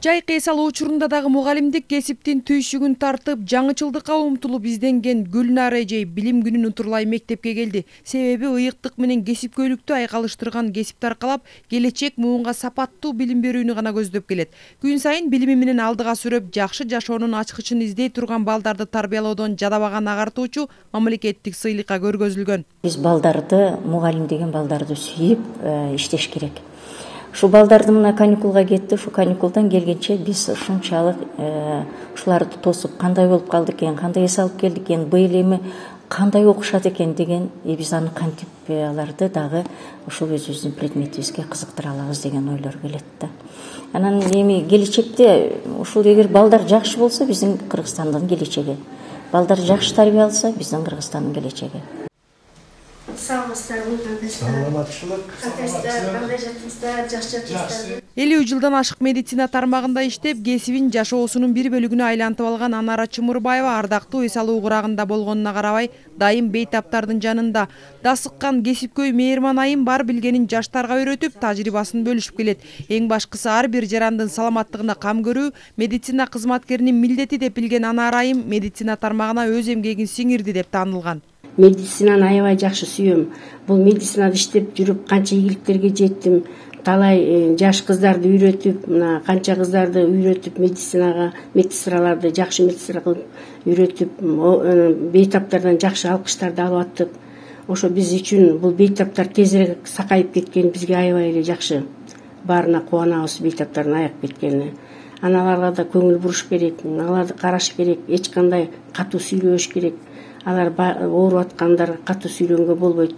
Жайкы эс алуу учурунда дагы мугалимдик кесиптин түйшүгүн тартып, жаңычылдыкка умтулуп изденген Гүлнар эжей билим күнүн утурлай мектепке келди. Себеби ыйыктык менен кесипкөйлүктү айкалыштырган кесипти аркалап, келечек муунга сапаттуу билим берүүнү гана көздөп келет. Күн сайын билими менен алдыга сүрөп, жакшы жашоонун ачкычын издей турган балдарды тарбиялоодон жадабаган агартуучу мамлекеттик сыйлыкка көргөзүлгөн. Биз балдарды, мугалим деген балдарды сүйүп иштеш керек. Шу балдарды мына каникулга кетти, шу каникулдан келгенче биз ушунчалык ушуларды тосуп кандай болуп калды экен, кандай эс алып келдик экен, быйыл эми кандай окушат экен деген, биз аны кантип аларды дагы ушул өзүбүздүн предметибизге кызыктыра алабыз деген ойлор келет да. Анан эми келечекте ушул эгер балдар жакшы болсо биздин Кыргызстандын келечеги, балдар жакшы тарбия алса биздин Кыргызстандын келечеги. Элүү жылдан ашык медицина тармагында иштеп, кесибин жашоосунун бир бөлүгүнө айлантып алган Анара Чымырбаева ардактуу эс алуу курагында болгонуна карабай, дайым бейтаптардын жанында. Дасыккан кесипкөй Мээрман айым бар билгенин жаштарга үйрөтүп, тажрыйбасын бөлүшүп келет. Эң башкысы ар бир жарандын саламаттыгына кам көрүү медицина кызматкеринин милдети деп билген Анара айым медицина тармагына өз эмгегин сиңирди деп таанылган. Медицинаны аябай жакшы сүйөм. Бул медицинада иштеп жүрүп канча ийгиликтерге жеттим. Талай жаш кыздарды үйрөтүп, мына канча кыздарды үйрөтүп медицинага, медсестраларды жакшы медсестра кылып үйрөтүп, бейтаптардан жакшы алкыштарды алып аттык. Ошо биз үчүн бул бейтаптар тезирээк сакайып кеткен бизге аябай эле жакшы. Баарына кубанабыз бейтаптардын аяп кеткенине. Аналарга да көңүл буруш керек, аларды караш керек, эч кандай катуу сүйлөш керек. Алар ооруп аткандарга катуу сүйлөнгө болбойт.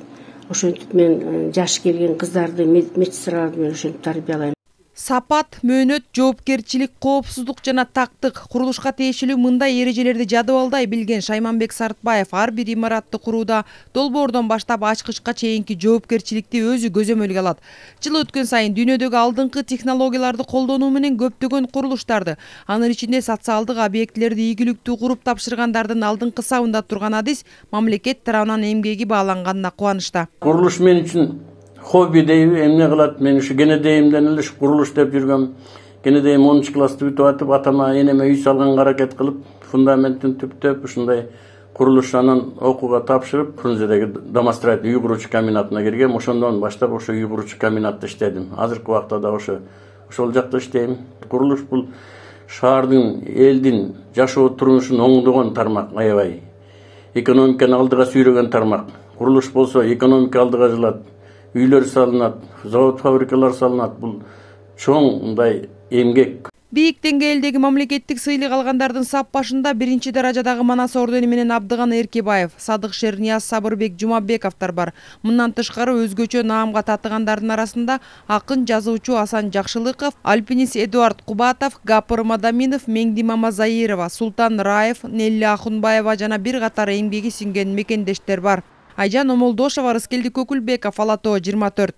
Ошентип мен жаш келген кыздарды медсестраларды менен ошентип тарбиялайм. Сапат, мөөнөт, жоопкерчилик, коопсуздук жана тактык курулушка тиешелүү мындай эрежелерди жадыбалдай билген Шайманбек Сартбаев ар бир имаратты курууда долбоордон баштап ачкычка чейинки жоопкерчиликти өзү көзөмөлгө алат. Жыл өткөн сайын дүйнөдөгү алдыңкы технологияларды колдонуу менен көптөгөн курулуштарды, анын ичинде социалдык объектилерди ийгиликтүү куруп тапшыргандардын алдыңкы сабында турган адис мамлекет тарабынан эмгеги бааланганына кубанычта. Курулуш мен үчүн хобби дейби, эмне кылат? Мен ушу кенедейимден эле курулуш деп жүргөм. Кенедейим 10 классты бүтүп атып, атама энеме үй салганга аракет кылып, фундаментин түптөп, ушундай курулуш анан окууга тапшырып, Фрунзедеги домостроительный үй куруучу комбинатына киргем. Ошондон баштап ошо үй куруучу комбинатта иштедим. Азыркы убакта да ошол жакта иштейм. Курулуш бул шаардын, элдин жашоо турмушун оңдогон тармак, аябай. Экономиканы алдыга сүйрөгөн тармак. Курулуш болсо экономика алдыга жылат. Үйлөр салынат, завод фабрикалар салынат. Бул чоң мындай эмгек. Бийик деңгээлдеги мамлекеттик сыйлык алгандардын сап башында биринчи даражадагы Манас ордени менен Абдыган Эркебаев, Садык Шернияз, Сабырбек Жумабековдор бар. Мындан тышкары өзгөчө наамга татыгандардын арасында акын жазуучу Асан Жакшылыков, альпинист Эдуард Кубатов, Гапыр Мадаминов, Меңди Мамазаирова, Султан Раев, Нелли Ахунбаева жана бир катар эмгеги сиңген мекендештер бар. Айжан Омолдошова, Рыскелди Көкүлбеков, Ала Тоо 24.